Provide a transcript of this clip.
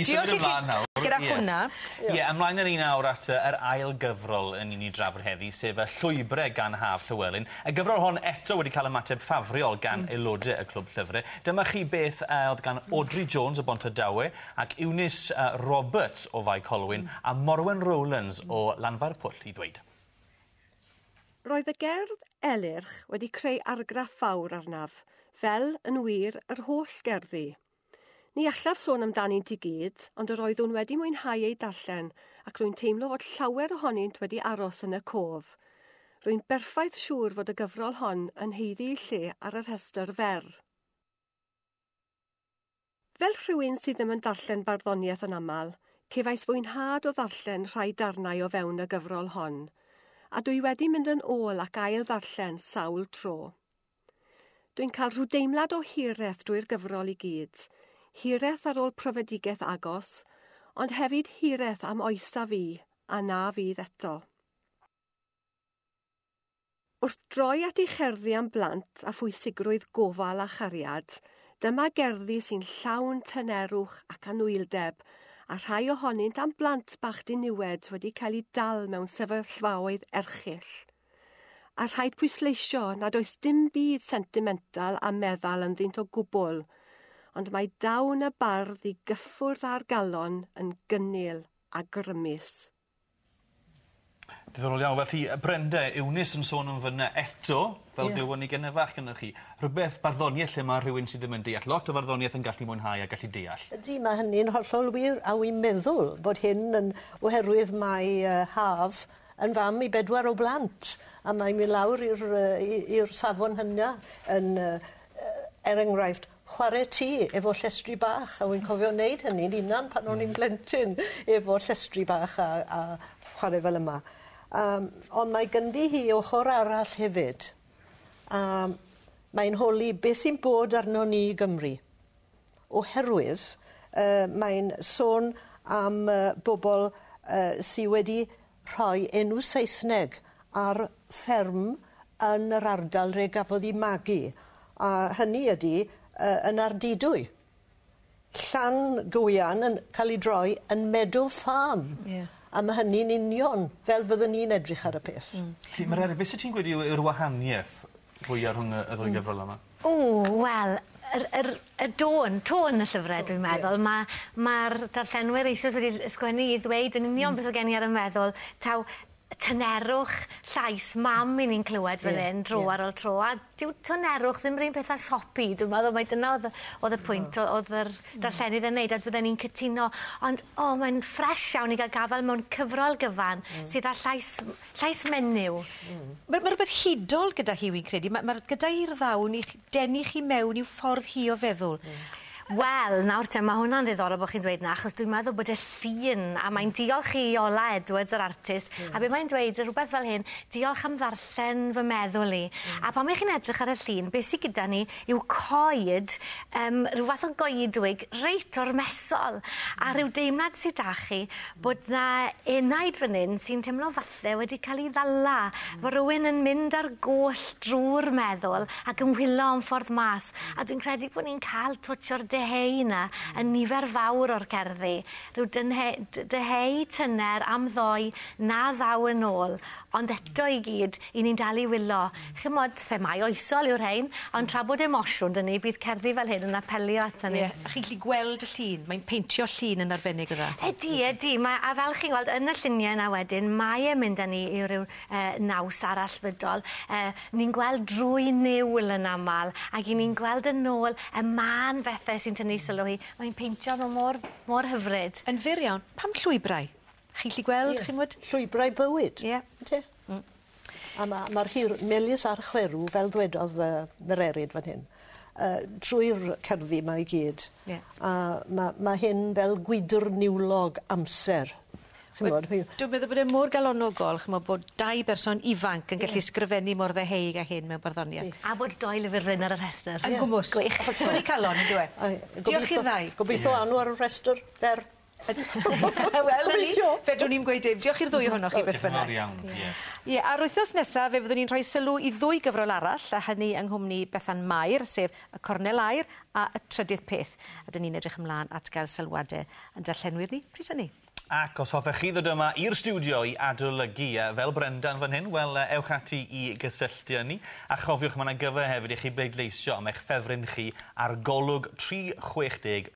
Diolch symud i chi ymlaen nawr. gyda Ie. hwnna. Ie, ymlaen â ni nawr at yy yr ail gyfrol yn i ni drafod heddi, sef y Llwybre gan Haf Llewelyn. Y gyfrol hon eto wedi cael ymateb ffafriol gan aelodau y Clwb Llyfre. Dyma chi beth yy o'dd gan Audrey Jones o Bontardawe ac Eunice yy Roberts o Fae Colwyn a Morwen Rowlands o Lanfairpwll i ddweud. Roedd y gerdd Elyrch wedi creu argraff fawr arnaf, fel, yn wir, yr holl gerddi. Ni allaf sôn amdanynt i gyd, ond yr oeddwn wedi mwynhau eu darllen ac rwy'n teimlo fod llawer ohonynt wedi aros yn y cof. Rwy'n berffaith siŵr fod y gyfrol hon yn haeddu ei lle ar y rhestr fer. Fel rhywun sydd ddim yn darllen barddoniaeth yn aml, cefais fwynhad o ddarllen rhai darnau o fewn y gyfrol hon, a dwi wedi mynd yn ôl ac ail ddarllen sawl tro. Dwi'n cael rhyw deimlad o hiraeth drwy'r gyfrol i gyd, hiraeth ar ôl profedigaeth agos, ond hefyd hiraeth am oes a fu, a na fydd eto. Wrth droi at ei cherddi am blant a phwysigrwydd gofal a chariad, dyma gerddi sy'n llawn tynerwch ac anwyldeb, a rhai ohonynt am blant bach diniwed wedi cael eu dal mewn sefyllfaoedd erchyll. A rhaid pwysleisio nad oes dim byd sentimental a meddal ynddynt o gwbl, ond mae dawn y bardd i gyffwrdd â'r galon yn gynnil a grymus. Diddorol iawn. Felly, Brenda, Eunice yn sôn am fyna eto, fel Ie. glywon ni gynne fach gynnoch chi. Rhywbeth barddoniaeth lle ma' rhywun sydd ddim yn deall lot o farddoniaeth yn gallu mwynhau a gallu deall. Ydy, mae hynny'n hollol wir, a wi'n meddwl bod hyn yn oherwydd mae Haf yn fam i bedwar o blant, a mae'n mynd lawr i'r i'r safon hynna yn, er enghraifft, chwarae tŷ efo llestri bach, a wi'n cofio wneud hynny'n hunan pan o'n i'n blentyn efo llestri bach a chwarae fel yma. Ond mae ganddi hi ochr arall hefyd. A mae'n holi beth sy'n bod arno ni i Gymru. Oherwydd mae'n sôn am bobl sy wedi rhoi enw Saesneg ar fferm yn yr ardal le gafodd ei magu. A hynny ydy yn Ardudwy. Llan Gywian yn cael ei droi yn Meadow Farm. A mae hynny'n union fel fyddwn ni'n edrych ar y peth. Felly, Mererid, beth sydd ti'n gweud yw'r wahaniaeth fwyaf rhwng y ddwy gyfrol yma? O, wel, y dôn, tôn y llyfrau, dwi'n meddwl. Mae'r darllenwyr eisoes wedi ysgrifennu i ddweud yn union beth oedd gen i ar y meddwl, taw tynerwch llais mam i ni'n clywed fel hyn dro ar ôl tro, a dyw tynerwch ddim yr un peth â sopi, dwi'n meddwl mai dyna oedd y pwynt oedd yr darllenydd yn neud, a fydden ni'n cytuno. Ond, o, mae'n ffres iawn i gael gafael mewn cyfrol gyfan sydd â llais menyw. Ma' rhywbeth hudol gyda hi, wi'n credu. Ma' gyda hi'r ddawn i denu chi mewn i'w ffordd hi o feddwl. Wel, nawr te, mae hwnna'n ddiddorol bod chi'n dweud 'na, achos dwi'n meddwl bod y llun, a mae'n diolch i Iola Edwards, yr artist, a be mae'n dweud, rhywbeth fel hyn, diolch am ddarllen fy meddwl i. A pan mae chi'n edrych ar y llun, beth sydd gyda ni yw coed, rhyw fath o goedwig reit ormesol, a rhyw deimlad sydd 'da chi bod 'na enaid fan hyn sy'n teimlo falle wedi cael ei ddala, fod rhywun yn mynd ar goll drwy'r meddwl ac yn wylo am ffordd mas, a dwi'n credu bod ni'n cael twtsh o'r deheu 'na yn nifer fawr o'r cerddi. Rhyw dyheu tyner am ddoe na ddaw yn ôl, ond eto i gyd, i ni'n dal i wylo. Chimod, themâu oesol yw'r rhain, ond tra bod emosiwn 'da ni, bydd cerddi fel hyn yn apelio ato ni. Ie, a chi'n gallu gweld y llun, mae'n peintio llun yn arbennig o dda. Ydy, ydy. A fel chi'n gweld yn y lluniau yna wedyn, mae e'n mynd â ni i ryw naws arallfydol. Ni'n gweld drwy niwl yn aml, ac i ni'n gweld yn ôl y mân bethau sy'n tynnu sylw hi. Mae'n peintio nhw mor hyfryd. Yn fyr iawn, pam llwybrau? Chi'n gallu gweld, chi'n gwybod? Llwybrau bywyd. Ynte? A ma'r hir melys a'r chwerw, fel ddwedodd Mererid fan hyn, trwy'r cerddi 'ma i gyd. A ma' hyn fel gwydr niwlog amser. Chimod, Dwi'n meddwl bod e mor galonogol, chimod, bod dau berson ifanc yn gallu sgrifennu mor ddeheuig â hyn mewn barddoniaeth. A bod dou lyfr Bryn ar y rhestr. Yn gwmws. Gwych. Codi calon, yndyw e? Ai, Diolch i'r ddau. Gobeithio anw ar y rhestr fer. Wel, 'na ni. Fedrwn ni'm gweud dim. Diolch i'r ddwy ohonoch chi beth Diolch yn fawr bynnag. iawn. Ie. Ie, a'r wythnos nesa fe fyddwn ni'n rhoi sylw i ddwy gyfrol arall, a hynny yng nghwmni Bethan Mair, sef Y Cornel Aur a Y Trydydd Peth. A 'dyn ni'n edrych ymlaen at gael sylwade yn darllenwyr ni pryd hynny. Ac os hoffech chi ddod yma i'r stiwdio i adolygu fel Brendan fan hyn, wel ewch ati i gysylltu â ni. A chofiwch ma' 'na gyfle hefyd i chi bleidleisio am eich ffefryn chi ar Golwg 360